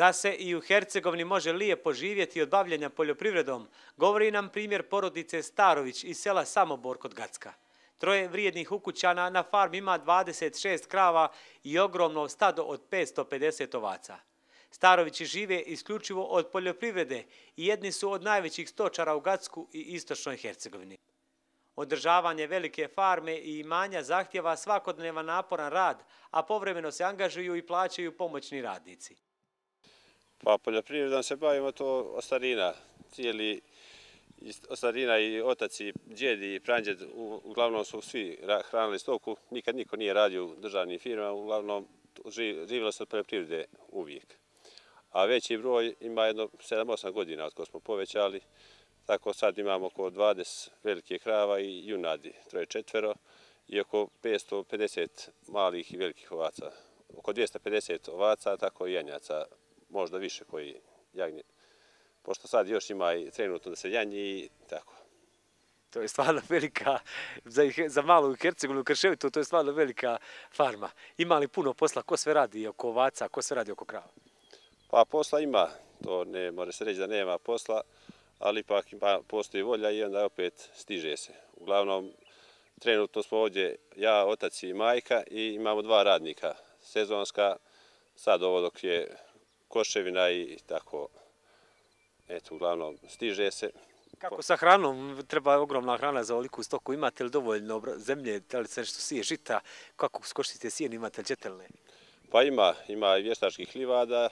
Da se i u Hercegovini može lijepo živjeti od bavljenja poljoprivredom, govori nam primjer porodice Starović iz sela Samobor kod Gacka. Troje vrijednih ukućana na farmi ima 26 krava i ogromno stado od 550 ovaca. Starovići žive isključivo od poljoprivrede i jedni su od najvećih stočara u Gacku i istočnoj Hercegovini. Održavanje velike farme i imanja zahtjeva svakodnevan naporan rad, a povremeno se angažuju i plaćaju pomoćni radnici. Pa poljoprivredom se bavimo to od starina. Cijeli od starina i otac i djed i pradjed uglavnom su svi hranili stoku. Nikad niko nije radio u državnim firmama, uglavnom živjelo se od poljoprivrede uvijek. A veći broj ima jedno 7-8 godina od ko smo povećali. Tako sad imamo oko 20 velike krava i junadi, 3-4 i oko 550 malih i velikih ovaca. Oko 250 ovaca, tako i janjaca, možda više koji jagnje. Pošto sad još ima i trenutno da se janji i tako. To je stvarno velika, za malu Hercegovinu, Krševitu, to je stvarno velika farma. Ima li puno posla, ko sve radi oko ovaca, ko sve radi oko krava? Pa posla ima, to ne može se reći da nema posla, ali ipak postoji volja i onda opet stiže se. Uglavnom, trenutno smo ovdje ja, otac i majka i imamo 2 radnika. Sezonska, sad ovo dok je koševina i tako, eto, uglavnom stiže se. Kako sa hranom? Treba ogromna hrana za ovoliku stoku. Imate li dovoljno zemlje, da li se nešto sije žita? Kako skoštite sijen, imate li đetelne? Pa ima i vještačkih livada.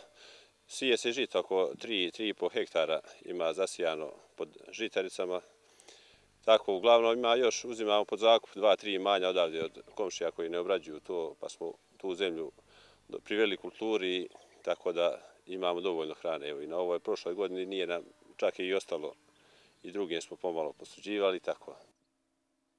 Sije se žita oko 3,5 hektara ima zasijano pod žitaricama. Tako, uglavnom uzimamo pod zakup 2-3 imanja odavde od komšija koji ne obrađuju to, pa smo tu zemlju priveli kulturi, tako da imamo dovoljno hrane. Evo, i na ovoj prošloj godini nije nam čak i ostalo i drugim smo pomalo posuđivali, tako.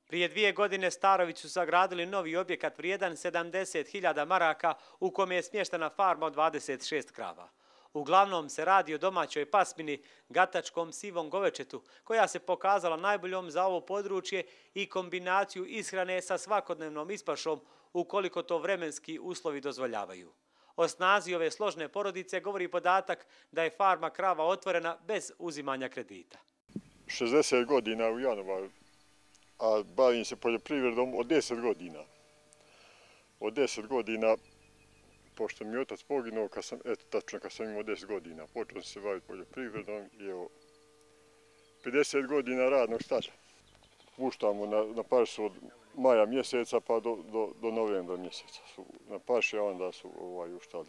Prije 2 godine Starović su sagradili novi objekat vrijedan 70.000 maraka u kome je smještena farma od 26 krava. Uglavnom se radi o domaćoj pasmini, gatačkom sivom govečetu, koja se pokazala najboljom za ovo područje i kombinaciju ishrane sa svakodnevnom ispašom, ukoliko to vremenski uslovi dozvoljavaju. O snazi ove složne porodice govori podatak da je farma krava otvorena bez uzimanja kredita. 60 godina u Janovaru, a bavim se poljoprivredom od 10 godina. Od 10 godina, pošto mi je otac poginuo, kad sam imao 10 godina, počeo sam se baviti poljoprivredom i evo, 50 godina radnog staža. Puštamo na pašu od maja mjeseca pa do novembra mjeseca su na paši, a onda su uštali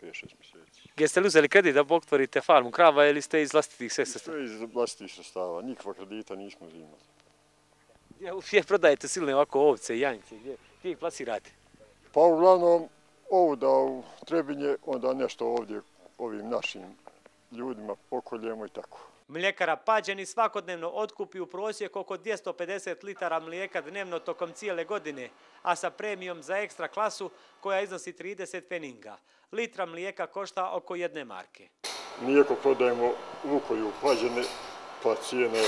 5-6 mjeseci. Jeste li uzeli kredit da otvorite farmu krava ili ste iz vlastitih sredstava? Sve iz vlastitih sredstava, nikakva kredita nismo uzimali. Gdje prodajete silne ovako ovce i janjce, gdje ih plasirate? Pa uglavnom ovu da u Trebinje, onda nešto ovdje ovim našim ljudima pokoljemo i tako. Mljekara Pađeni svakodnevno otkupi u prosjeku oko 250 litara mlijeka dnevno tokom cijele godine, a sa premijom za ekstra klasu koja iznosi 30 pfeninga. Litra mlijeka košta oko 1 marke. Mlijeko prodajemo u Vukoju Pađene, pa cijene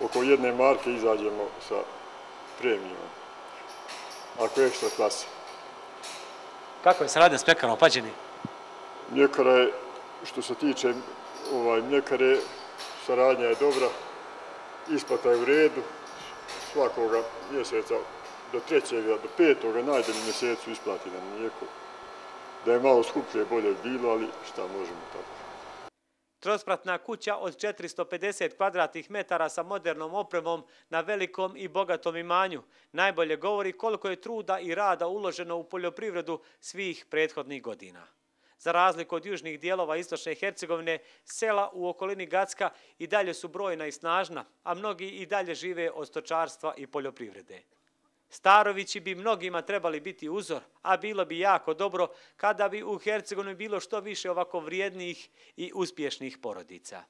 oko 1 marke izađemo sa premijom, ako je ekstra klasa. Kako je saradnja s mljekarom Pađeni? Mljekara je, što se tiče mljekare, saradnja je dobra, isplata je u redu, svakoga mjeseca do 3. do 5. najdalji mjesecu isplati nam mlijeko. Da je malo skuplje, bolje bilo, ali šta možemo tako. Trospratna kuća od 450 kvadratnih metara sa modernom opremom na velikom i bogatom imanju najbolje govori koliko je truda i rada uloženo u poljoprivredu svih prethodnih godina. Za razliku od južnih dijelova istočne Hercegovine, sela u okolini Gacka i dalje su brojna i snažna, a mnogi i dalje žive od stočarstva i poljoprivrede. Starovići bi mnogima trebali biti uzor, a bilo bi jako dobro kada bi u Hercegovini bilo što više ovako vrijednih i uspješnih porodica.